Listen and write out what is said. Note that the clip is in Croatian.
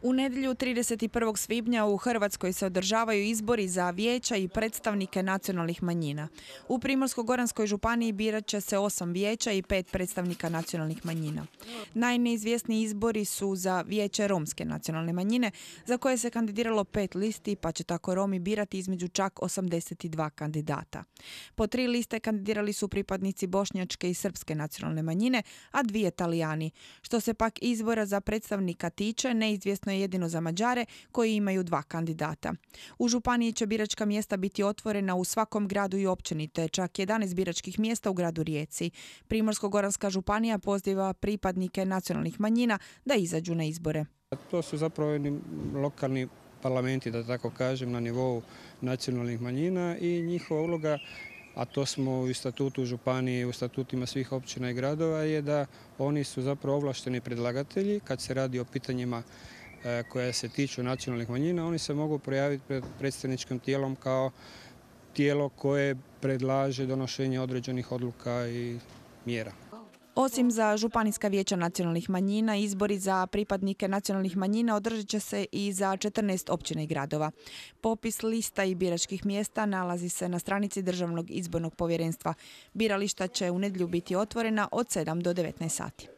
U nedjelju 31. svibnja u Hrvatskoj se održavaju izbori za vijeća i predstavnike nacionalnih manjina. U Primorsko-goranskoj županiji birat će se 8 vijeća i 5 predstavnika nacionalnih manjina. Najneizvjesniji izbori su za vijeće romske nacionalne manjine, za koje se kandidiralo 5 listi, pa će tako Romi birati između čak 82 kandidata. Po 3 liste kandidirali su pripadnici bošnjačke i srpske nacionalne manjine, a 2 Talijani. Što se pak izbora za predstavnika tiče, neizvjesno je jedino za Mađare koji imaju 2 kandidata. U županiji će biračka mjesta biti otvorena u svakom gradu i općini, te čak 11 biračkih mjesta u gradu Rijeci. Primorsko-goranska županija poziva pripadnike nacionalnih manjina da izađu na izbore. To su zapravo lokalni parlamenti, da tako kažem, na nivou nacionalnih manjina i njihova uloga, a to smo u statutu županije, u statutima svih općina i gradova, je da oni su zapravo ovlašteni predlagatelji kad se radi o pitanjima koja se tiču nacionalnih manjina. Oni se mogu projaviti pred predstavničkim tijelom kao tijelo koje predlaže donošenje određenih odluka i mjera. Osim za županijska vijeća nacionalnih manjina, izbori za pripadnike nacionalnih manjina održat će se i za 14 općina i gradova. Popis lista i biračkih mjesta nalazi se na stranici Državnog izbornog povjerenstva. Birališta će u nedjelju biti otvorena od 7 do 19 sati.